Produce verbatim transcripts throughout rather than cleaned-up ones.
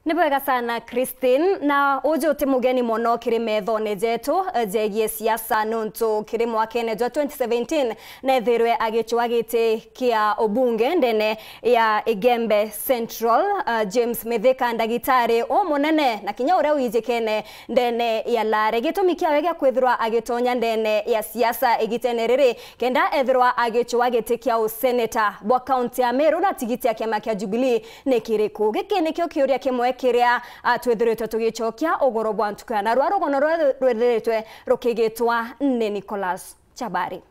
Ni bwega sana, Christine. Na uju ti mugeni mono kiri methone jetu, eh, jegie siasa, nontu kiri mwakene jwa twenty seventeen neethirwe agicwa giti kia ubunge ndene ya Igembe Central, eh, James Mithika, ndagitari umunene na kinya uria wijikene ndene ya Lare. Gitumi kiawe gia kwithirwa agitonya ndene ya siasa igitene riri, kenda ethirwa agicwa giti kia useneta bwa kaunti ya Meru na tigiti ya kiama kia Jubilee ni kiriku? Giki nikio kiuria kimwe kiria, a, twithiritwe tugicokia ugoro bwa ntuku ya narua. Rugono rwe rwithiritwe rukigitwa ni Nicholas Chabari.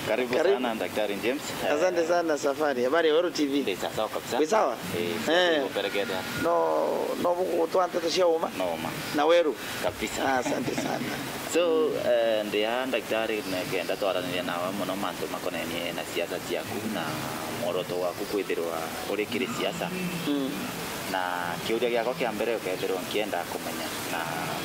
Karibu. Karibu sana, Daktari James. Asante sana, Safari. Habari ya Weru T V? Ndi sawa kabisa. Wi sawa? Eh, eh. Uperegete. No, no buku gutwa nteto cia uma? No uma. Na Weru? Kabisa. Ah, asante sana. So, eh, ndi aa, Daktari, nikenda twaranirie nawe mono mantu makonenie na siasa ciaku na mworoto waku kwithirwa uri kiri siasa. Mm. Na kiuria giakwa kia mbere ukethirwa nkienda kumenya, na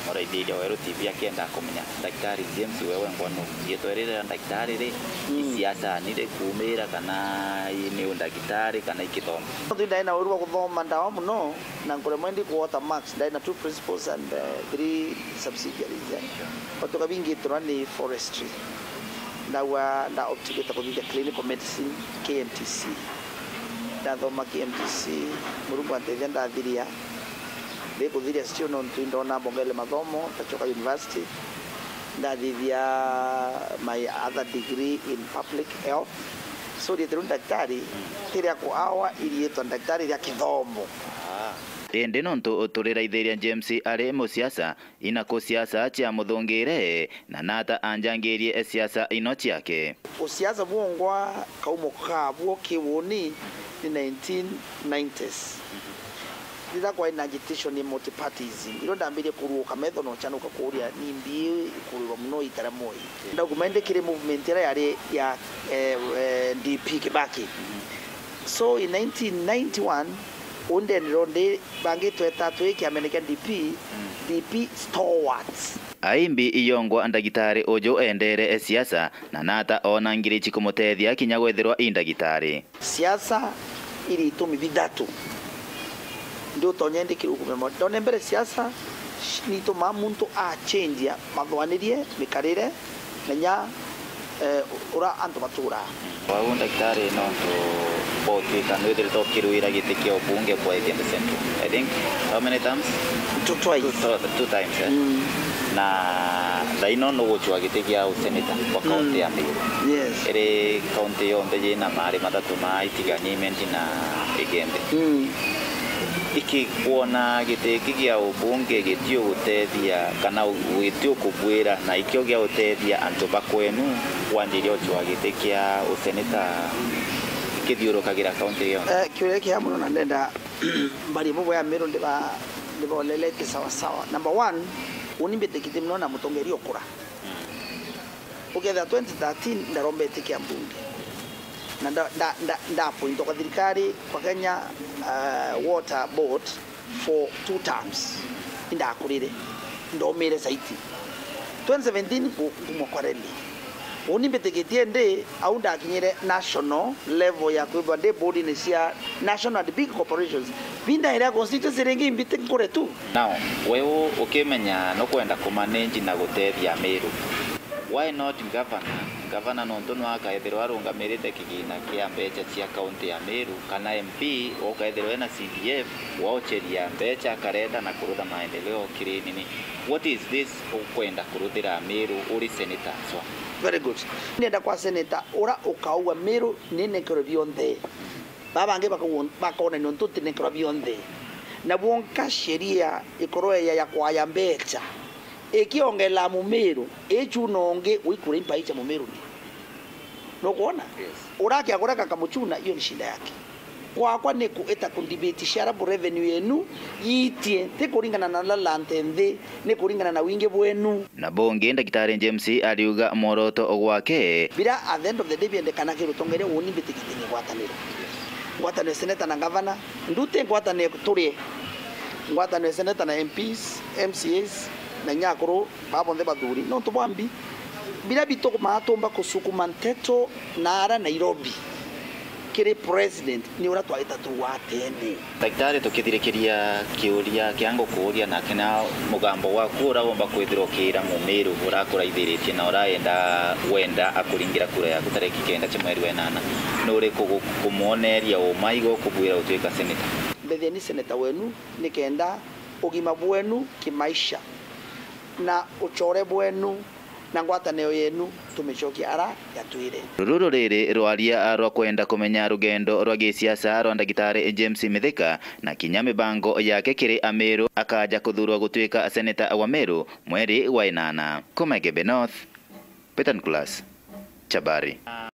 muraithiria Weru T V akienda kumenya, Daktari James, wewe ngwanu, riitwa riri ria Daktari ri, mm, i siasa ni ri kuumira, kana i, ni undagitari, kana i kithomo? Nontu ndai na uru bwa kuthoma ndawa mono, na nkuremwa indi ku water marks, ndai na two principals and, uh, three subsidiaries, eh. But tukabingitirwa ni forestry. Ndagua nda opt gwita kuthithia clinical medicine, K M T C. Ndathoma K M T C, Murungu antethia ndathiria. Ndi kuthiria still nontu indona mbongele mathomo, ndacoka university. Ndathithia my other degree in public health. So, riitwa riu ndaktari, ti ria kuawa, iriitwa ndaktari ria kithomo. Indi nontu turiraithiria James ari musiasa, inaku siasa ciamuthungire, na nata anjangirie siasa ino ciake? Usiasa bwongwa kaumo kabwo ki uuni ni nineteen nineties. Riria kwai na agitation ya multipartyism, irio ndambirie kuruuka metho na uchanuka kuuria ni mbi ikurirwa mono itara moi. Ndauguma indi kiri movement iria yari ya, eh, eh, D P Kibaki. So in nineteen ninety-one, undendero ndi bangi tweta twi kiamene kia D P, D P stalwarts. Aimbi iyongwa ndagitari uju endere siasa, na nata ona ngiri cikumuteethia kinya gwithirwa i ndagitari? Siasa iri itumi bithatu ndi utonya indi kirugume mo. Ndone mbere siasa ni itumaa muntu achenjia mathwanirie, mikarire, na nya, eh, ura antu baturaa. Wau ndagitari, nontu bwa utuika nwithiritwe ukirwira giti kia ubunge bwa Igembe Central, I think, how many terms? Two, twice. Two, two, two times, eh? Mm. Na thaino nugucwa giti gia useneta bwa kaunti ya Meru. Yes. Iri kaunti yonthe yina maari mathatu ma Itigania, Imenti na Igembe. Mm. Iki kwona giti giki gia ubunge gitiugutethia kana u-, gitiukubwira na ikio gia utethia antu ba kwenu, wanjiria ucwa giti kia useneta kithiurukagira kaunti yonthe? Eh, kiuria kia mono na ndenda mbari bubwe ya Meru ndiba-, ndibolelete sawa sawa. Number one, uni mbitikitie mono na mutongeria ukura. Ukethira twenty thirteen ndarombete kia mbunge. Na nda, nda, nda, nda appointwa kwa thirikari kwa Kenya, uh, Water Board for two terms. Indakurire. Ndomire saiti. Twenty seventeen ku-, kumwa kwa rally. Uni mbitikitie ndi, au ndakinyire national level ya kwithwa ndi board-ini cia national and big corporations. Binda iria constituency ringi imbite nkure tu. Now, we u-, ukimenya nukwenda kumanage na gutethia Meru, why not governor? Governor nontu nwe akaethirwa arungamirite kigina kia mbecha cia kaunti ya Meru, kana M P ukaethirwa ena C D F, waocheria mbecha akareta na kurutha maendeleo kiri nini. What is this ukwenda kuruthira Meru uri senator aswa? Very good. Ndenda kwa senator ura ukaua Meru ninenkerwe bionthe. Baa bangi bakauo-, bakona nontu ntinenkerwa bionthe. Na bwonka sheria ikorwe ya, ya kwaya mbecha. Ikiongela Mumiru, ichuna ungi uikura impai cha Mumiru ni. Nukwona? Yes. Urakia kureka kamuchuna, hiyo ni shida yake. Kwakwa ni kuita kudebate shareable revenue yenu yiitie, ti kuringana na uria land nthi, ni kuringana na wingi bwenu. Na bungi, Ndagitari James ariuga mworoto gwake. Bira at the end of the day biendekana kiri utongeria, uni mbitikitie ni ngwataniro. Ngwataniro ya seneta na ngavana, nduti ngwataniro turie. Ngwataniro ya seneta na M Ps, M C As, na inya akuru baa bonthe bathuri. Nontu bwa mbi, bira bitukumaa tumba kusukuma nteto naara Nairobi. Kiri president ni uria twaita tu wa tene. Ndagitari, tukithirikiria kiuria kia ngukuuria, na kina mugambo waku uria womba kwithirwa ukiira Mumiru urakuraithiritie na urayenda wenda akuringira kura yaku tariki kenda cia mweri wa inana, ni uriku gu-, kumwoneria uma igo ukubwira utuika seneta? Mbethie ni seneta wenu nikenda ugima bwenu kimaisha na ucore bwenu na ngwataniro yenu tumicokie ara yatwire. Ruru ruriri rwaria rwa kwenda kumenya rugendo rwa gisiasa rwa Ndagitari James Mithika na kinya mibango yake kiri Amiru akaja kuthurwa gutuika seneta wa Meru mweri wa inana. Kuma Igembe North, Peter Nicholas, Chabari.